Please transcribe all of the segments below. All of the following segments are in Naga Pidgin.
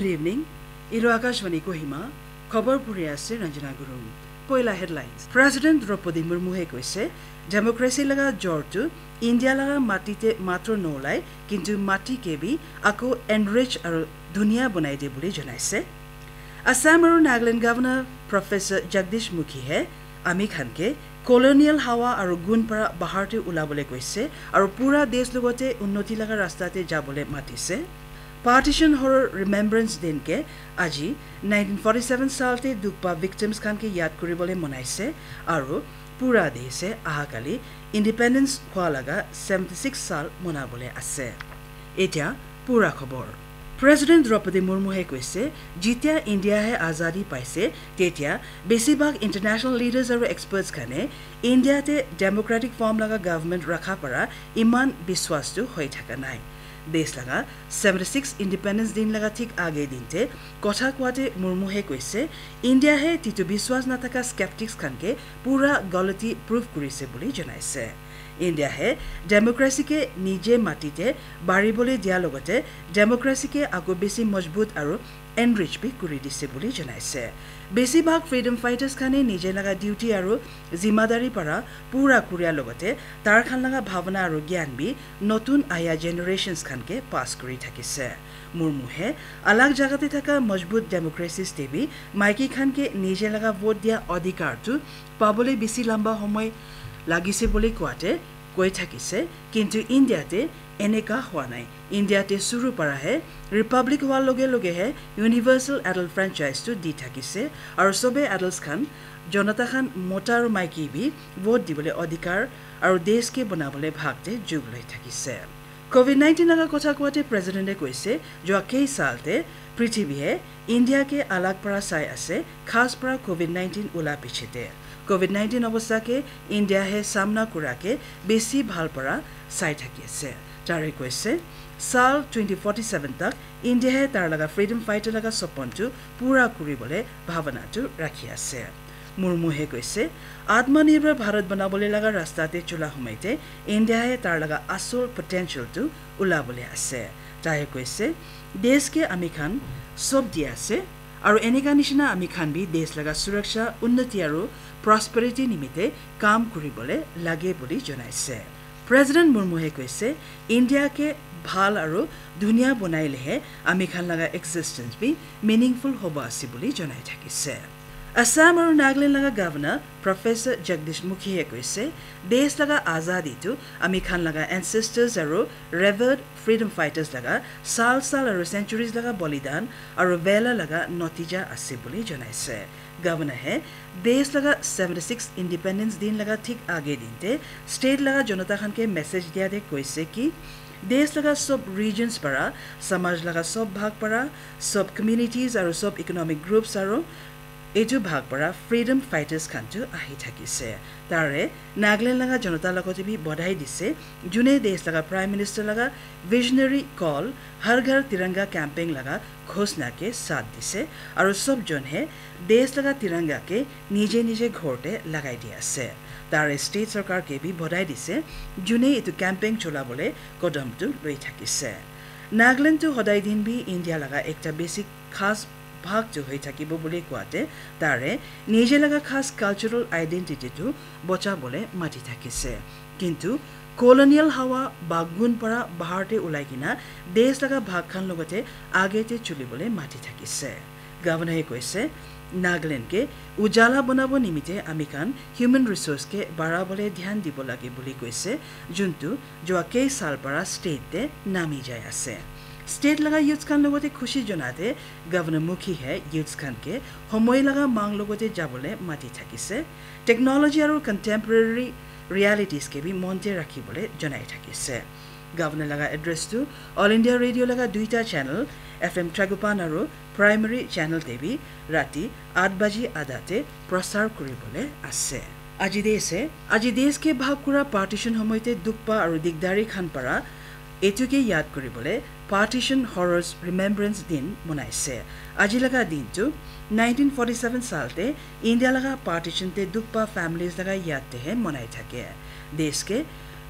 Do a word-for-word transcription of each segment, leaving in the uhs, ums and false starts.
Good evening. Etu Akashvani Kohima, khobor puri ase Ranjana Gurung. Poila headlines. President Draupadi Murmu he koise, democracy laga jor tu India laga mati te matro nolai, kintu mati ke bi ako enrich aru dunia bonai de buli janaise. Assam aru Nagaland Governor Professor Jagdish Mukhi he ami khan ke colonial hawa aru gun para bahar te ulabole koise aru pura desh logote unnoti laga rasta te jabole matise. Partition Horror Remembrance Din ke aji nineteen forty-seven sal te dukh pa victims khan ke yad kuribole manaise aru pura desh e aha kali independence hua laga seventy-six sal manabole ase. Etia pura khobor. President Draupadi Murmu he koise, jitia India he azadi paise, tetia besibhag international leaders aru experts khane India te democratic form laga government rakha para iman biswas tu hoi thaka nai. Desh laga seventy-six Independence Din laga thik age din te kotha koate Murmu he koise, India he titu biswas nathaka skeptics khan ke pura galati proof kurise buli janaise. India he democracy ke nije mati te baribole dia logote democracy ke ako besi majbut aru enrich bi kuri dise buli janaise. Besibhag freedom fighters khane nije laga duty aru zimadari para pura kuria logote tar khan laga bhavana aru gyan bi notun aya generations khan ke pass kuri thakise. Murmu he alag jaga te thaka majbut democracies te bi maiki khan ke nije laga vote dia adhikar tu pabole bisi lamba homoi lagise bole koate koi thakise, kintu India te eneka hua nai. India te suru para he republic hua loge loge he universal adult franchise tu di thakise, aru sobe adults khan jonata khan mota aru maiki bi vote dibole adhikar aru desh ke banabole bhag te jug loi thakise. Covid nineteen laga kotha koate president e koise, jua kei sal te prithibi he India ke alag para sai ase, khas para Covid nineteen ula piche te. Covid nineteen obostha ke India he samna kura ke besi bhal para sai thaki ase. Tare koise, sal twenty forty-seven tak India he tar laga freedom fighter laga sopon tu pura kuri bole bhavana tu rakhi ase. Murmu he koise, Atmanirbhar Bharat banabole laga rasta te chula humai te India he tar laga asol potential tu ulabole ase. Tahe koise, desh ke ami khan sob di ase, aru eneka nishina ami khan bi desh laga suraksha, unnati aru prosperity nimite kam kuribole lage buli janaise. President Murmu he koise, India ke bhal aru dunia bonai lehe ami khan laga existence bi meaningful hobo ase buli janai thakise. Assam aru Nagaland laga Governor Professor Jagdish Mukhi he koise, desh laga azadi tu ami khan laga ancestors aru revered freedom fighters laga sal sal aru centuries laga bolidan aru vela laga notija ase buli janaise. Governor he desh laga seventy-six Independence Din laga thik age din te state laga jonata khan ke message dia de koise ki desh laga sob regions para, samaj laga sob bhag para, sob communities aru sob economic groups aru etu bhag para freedom fighters khan tu ahi thakise. Tare Nagaland laga jonata logote bi bodhai dise, june desh laga Prime Minister laga visionary call Har Ghar Tiranga campaign laga ghosna ke saath dise, aru sob jon he desh laga tiranga ke nije nije ghor te lagai di ase. Tare state sarkar ke bi bodhai dise, june etu campaign chola bole kodam tu loi thakise. Nagaland tu hodai din bi India laga ekta basic khas bhag tu hoi thakibo buli koate, tare nije laga khas cultural identity tu bocha bole mati thakise. Kintu colonial hawa ba gun para bahar te ulai kina desh laga bhag khan logote age te chuli bole mati thakise. Governor he koise, Nagaland ke ujala banabo nimite ami khan human resource ke bara bole dhyan dibo lage buli koise, juntu jua kei sal para state te nami jai ase. State laga youths khan logote khushi jonate Governor Mukhi he youths khan ke homoi laga mang logote jabole mati thakise. Technology aru contemporary realities ke bi monte rakhi bole janai thakise. Governor laga address tu All India Radio laga duita channel F M Tragopan aru primary channel te bi rati aat baji adha te prasar kuri bole ase. Aji desh he, aji desh ke bhag kura partition homoi te dukh pa aru digdari khan para etu ke yad kuri bole Partition Horrors Remembrance Din manaise. Aji laga din tu nineteen forty-seven sal te India laga partition te dukh pa families laga yad te he manai thake. Desh ke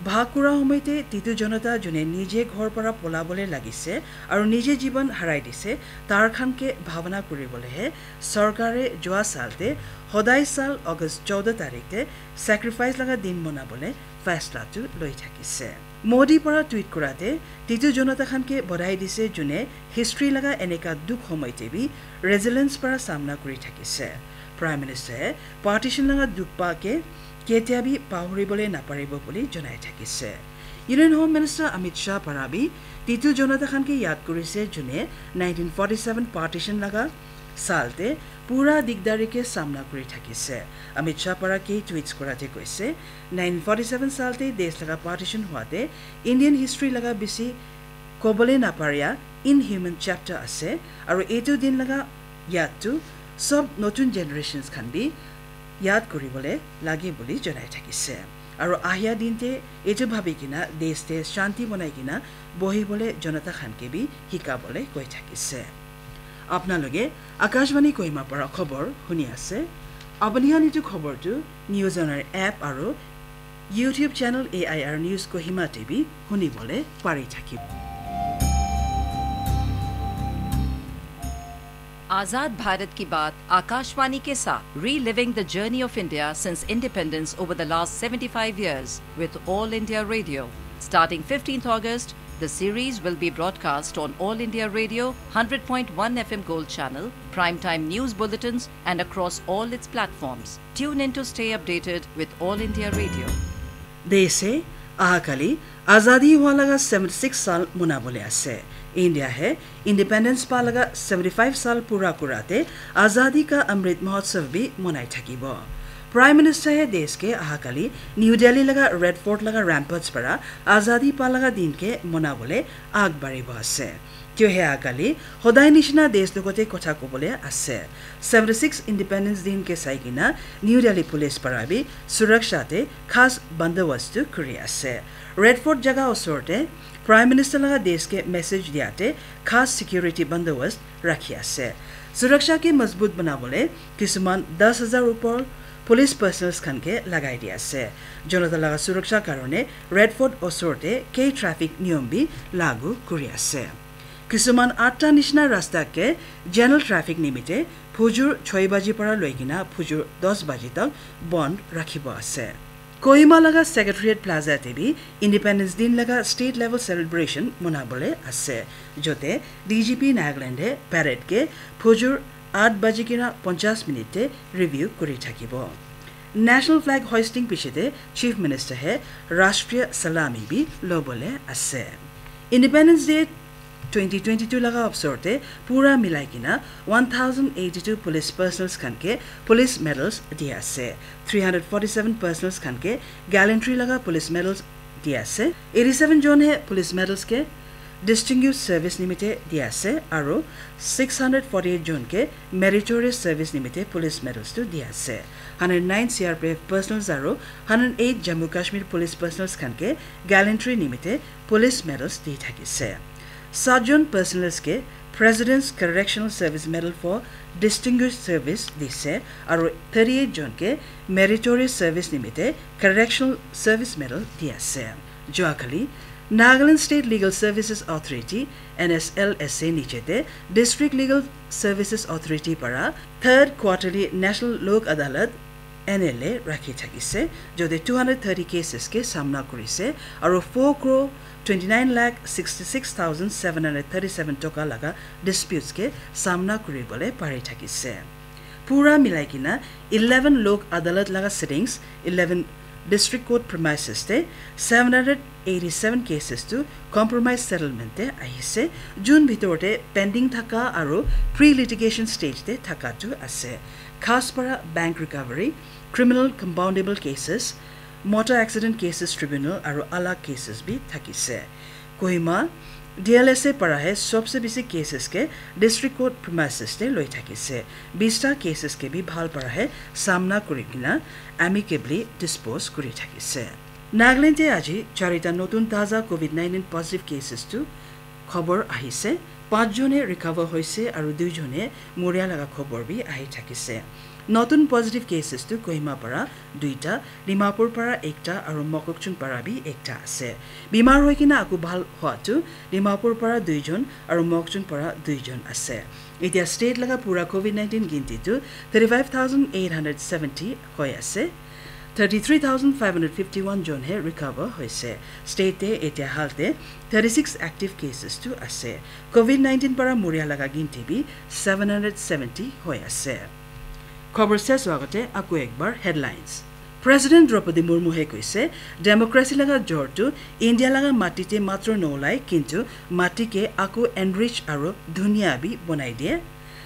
Bhag kura homoite Titu Jonata june nije ghor para polabole lagise aru nije jiban harai dise, tar khan ke bhabana kuribole he sorkare jua sal te hodai sal August chowda tarik te sacrifice laga din monabole faisla tu loi thakise. Modi para tweet kurate Titu Jonata khan ke bodhai dise june history laga eneka dukh homoite bi resilience para samna kuri thakise. Prime Minister partition laga dukh pa ke ketia bi pahuribole naparibo buli jonai thakise. Union Home Minister Amit Shah para bi Titu Jonata khan ke yad kurise june nineteen forty-seven partition laga sal te pura digdari ke samna kuri thakise. Amit Shah para ke tweets kurate koise, nineteen forty-seven sal te desh laga partition huate Indian history laga bisi kobole naparia inhuman chapter ase, aru etu din laga yad tu sob notun generations khan bi yad kuribole lage buli jonai thakise. Aru ahia din te etu bhabi kina desh te shanti bonai kina bohibole Jonata khan ke bi hikabole koi thakise. Apna loge Akashvani Kohima para khobor huni ase. Apuni khan etu khobor tu News on Air app aru YouTube channel A I R News Kohima te bi huni bole pari thakibo. Azad Bharat Ki Baat, Akashvani ke saath, reliving the journey of India since independence over the last seventy-five years with All India Radio. Starting fifteenth August, the series will be broadcast on All India Radio, hundred point one F M Gold Channel, primetime news bulletins, and across all its platforms. Tune in to stay updated with All India Radio. Deshe ahakali azadi hua laga seventy-six sal monabole ase. India he independence pa laga seventy-five sal pura kurate Azadi Ka Amrit Mahotsav bi monai thakibo. Prime Minister he desh ke ahakali New Delhi laga Red Fort laga ramparts para azadi pa laga din ke monabole agbaribo ase. Tio he akali hodai nishina desh logote kotha kobole ase. Seventy-six Independence Din ke saikina New Delhi Police para bi suraksha te khas bandobast tu kuri ase. Red Fort jaga osor te Prime Minister laga desh ke message diate khas security bandobast rakhi ase. Suraksha ke mazbut banabole kisuman das hazar upor police personnels khan ke lagai di ase. Jonata laga suraksha karone Red Fort osor te kei traffic niyom bi lagu kuri ase. Kisuman atta nishina rasta ke general traffic nimite phujur choi baji para loikina phujur dos baji tak bond rakhibo ase. Kohima laga Secretariat Plaza te bi Independence Din laga state level celebration monabole ase. Jote D G P Nagaland he parade ke phujur aat baji kina ponchas minute te review kuri thakibo. National flag hoisting pichete Chief Minister he Rashtriya Salami bi lobole ase. Independence Day twenty twenty-two laga avsor te pura milai kina one thousand eighty-two police personnels khan ke police medals di ase. Three hundred forty-seven personnels khan ke gallantry laga police medals di ase. Eighty-seven jon he police medals ke distinguished service nimite di ase aru six hundred forty-eight jon ke meritorious service nimite police medals tu di ase. Hundred nine C R P F personnels aru hundred eight Jammu Kashmir police personnels khan ke gallantry nimite police medals di thakise. Sat jon personnels ke President's Correctional Service Medal for Distinguished Service dise aru thirty-eight jon ke meritorious service nimite Correctional Service Medal di ase. Joakali Nagaland State Legal Services Authority, N S L S A nichete District Legal Services Authority para third quarterly National Lok Adalat N L A rakhi thakise, jode two hundred thirty cases ke samna kurise aru four crore twenty-nine lakh sixty-six thousand seven hundred thirty-seven toka laga disputes ke samna kuribole pari thakise. Pura milai kina eleven Lok Adalat laga sittings, eleven District Court premises te seven hundred eighty-seven cases tu compromise settlement te ahise. June bhitor te pending thaka aru pre-litigation stage te thaka tu ase. Khas para bank recovery, criminal compoundable cases, motor accident cases tribunal aru alag cases bi thakise. Kohima D L S A para he sobse bisi cases ke district court premises te loi thakise. Bista cases ke bi bhal para he samna kuri kina amicably dispose kuri thakise. Nagaland te aji charita notun taza covid nineteen positive cases tu khobor ahise. Panch jone recover hoise aru dui jone moria laga khobor bi ahi thakise. Notun positive cases tu Kohima para duita, Dimapur para ekta aru Mokokchung para bi ekta ase. Bimar hoi kena aku bhal hua tu Dimapur para duijon aru Mokokchung para duijon ase. Etia state laga pura covid nineteen ginti tu thirty five thousand eight hundred seventy hoi ase. Thirty three thousand five hundred fifty one jon he recover hoise. State te etia hal te thirty six active cases tu ase. Covid nineteen para muria laga ginti bi seven hundred seventy hoi ase. Khobor ses howa agate aku ekbar headlines. President Draupadi Murmu he koise, democracy laga jor tu India laga mati te matro nolai, kintu mati ke aku enrich aru dunia bi bonai diye.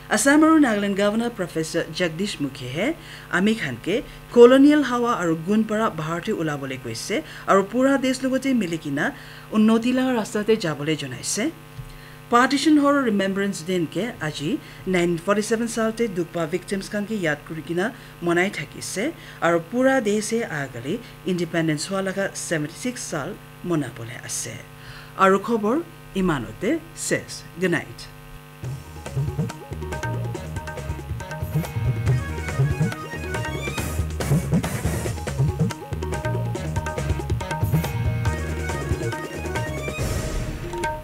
Assam aru Nagaland Governor Professor Jagdish Mukhi he ami khan ke colonial hawa aru gun para bahar te ulabole koise aru pura desh logote mili kena unnoti laga rasta te jabole jonaise. Partition Horror Remembrance Din ke aji nineteen forty seven sal te dukpa victims khan ke yad kuri kena manai thakise aru pura desh he agali independence hua laga seventy six sal manabole ase. Aru khobor imanote ses. Good night.